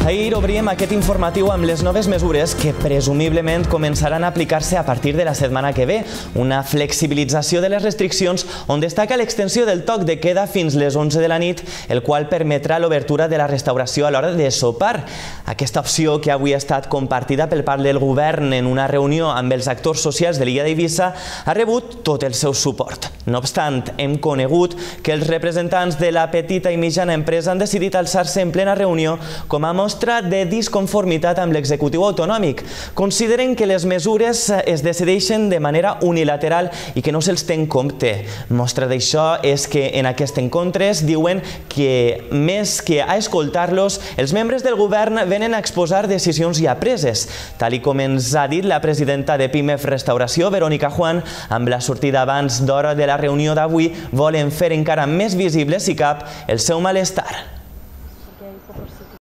Ahir obríem aquest informatiu amb les noves mesures que presumiblement començaran a aplicar-se a partir de la setmana que ve. Una flexibilització de les restriccions on destaca l'extensió del toc de queda fins les 11 de la nit, el qual permetrà l'obertura de la restauració a l'hora de sopar. Aquesta opció, que avui ha estat compartida pel part del govern en una reunió amb els actors socials de l'illa d'Eivissa, ha rebut tot el seu suport. No obstant, hem conegut que els representants de la petita i mitjana empresa han decidit alçar-se en plena reunió com a mostra de disconformitat amb l'executiu autonòmic. Consideren que les mesures es decideixen de manera unilateral i que no se'ls té en compte. Mostra d'això és que en aquest encontre diuen que, més que a escoltar-los, els membres del govern venen a exposar decisions ja preses. Tal com ens ha dit la presidenta de PIMEF Restauració, Verónica Juan, amb la sortida abans d'hora de la reunió d'avui, volen fer encara més visible, si cap, el seu malestar.